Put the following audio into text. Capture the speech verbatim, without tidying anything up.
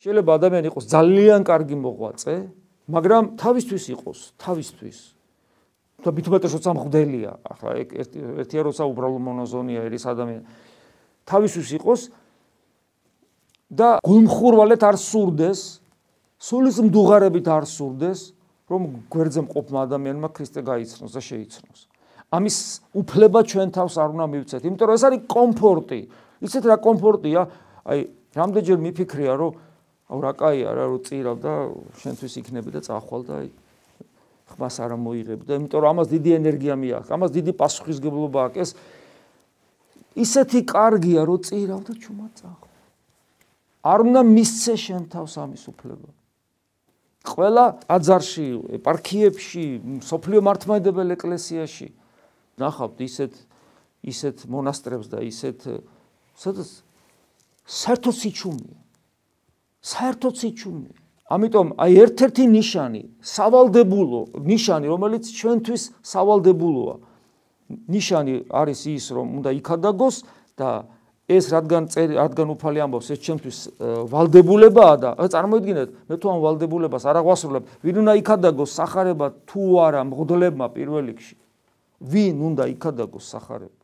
შეიძლება ადამიანი იყოს ძალიან კარგი მოღვაწე, მაგრამ თავისთვის იყოს, თავისთვის. და მithumetes როცა მღვდელია, ახლა ერთია როცა უბრალო მონოზონია ერის ადამიანი. თავისთვის იყოს და გულმხურვალეთ არ სურდეს, სულის მდუღარებით არ სურდეს, რომ გვერდზე მყოფმა ადამიანმა ქრისტე გაიცნოს და შეიცნოს. ამის უფლება ჩვენ თავს არ უნდა მივცეთ, იმიტომ რომ ეს არის კომფორტი. იცით რა კომფორტია? აი, რამდენჯერ მიფიქრია, რომ აუ რა კაია რა, რომ წირავ და შენთვის იქნები და წახვალ და აი ხმას არ მოიღებ და იმიტომ რომ ამას დიდი ენერგია მიაქვს, ამას დიდი პასუხისმგებლობა აქვს. ეს ისეთი კარგია, რომ წირავ და ჩუმად წახვალ. არ უნდა მისცე შენ თავს ამის უფლება. ყველა ტაძარში, ეპარქიებში, სოფლიო მართლმადიდებელ ეკლესიაში ნახავთ ისეთ ისეთ მონასტრებს და ისეთ სადაც საერთოდ სიჩუმეა. საერთოდ სიჩუმეა. ამიტომ აი ერთ-ერთი ნიშანი, სავალდებულო ნიშანი, რომელიც ჩვენთვის სავალდებულოა. ნიშანი არის ის, რომ უნდა იქადაგოს და ეს რადგან რადგან უფალი ამბობს, ეს ჩემთვის ვალდებულებაა და წარმოიდგინეთ, მე თუ ამ ვალდებულებას არ აღვასრულებ, ვინ უნდა იქადაგოს სახარება თუ არა მღვდლებმა პირველ რიგში? ვინ უნდა იქადაგოს სახარება?